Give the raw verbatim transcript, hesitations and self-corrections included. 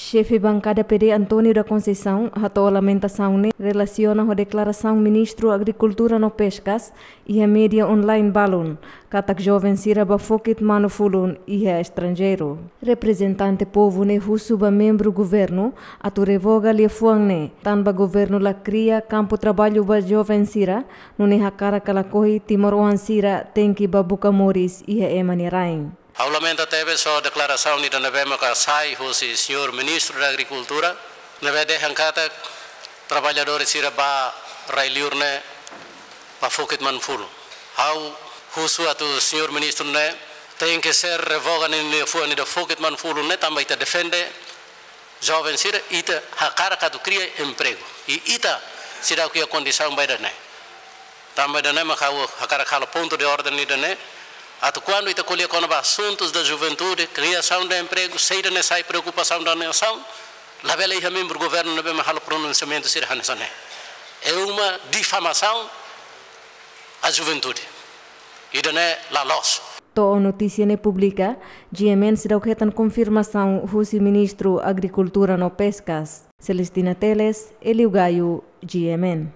Xefe bankada P D António da Conceição hato'o lamentasaun ne'e relasiona ho deklarasaun Ministru Agrikultura no Peskas iha média online balun, katak joven sira bá fokit manu-fulun iha estranjeiru. Reprezentante povu ne'e husu ba membru governu atu revoga liafuan ne'e, tanba governu la kria kampu traballu ba joven sira, nune'e hakarak ka lakohi timoroan sira tenke bá buka moris iha ema nia rain. Ha'u lamenta tebes ho deklarasaun ida ne'ebé maka sai husi señór Ministru da Agrikultura, ne'ebé dehan katak traballadór sira bá rai-liur ne'e bá fokit manu-fulun. Ha'u husu atu señór Ministru ne'e tenke ser revoga ninia liafuan ida fokit manu-fulun ne'e, tanba ita defende joven sira, ita hakarak atu kria empregu. I ita seidauk iha kondisaun ba ida-ne'e. Tanba ida-ne'e maka ha'u hakarak halo pontu de orden ida-ne'e, atu kuandu ita ko'alia kona-ba asuntus da juventude, kriasaun de empregu, se ida-ne'e sai preokupasaun da nasaun, labele iha membru governu ne'ebé mak halo pronunsiamentu sira hanesan ne'e. É uma difamação à juventude. Ida-ne'e la loos. To'o notísia ne'e publika, G M N seidauk hetan konfirmasaun husi Ministru Agrikultura no Peskas. Celestina Teles, Elio Gaio, G M N.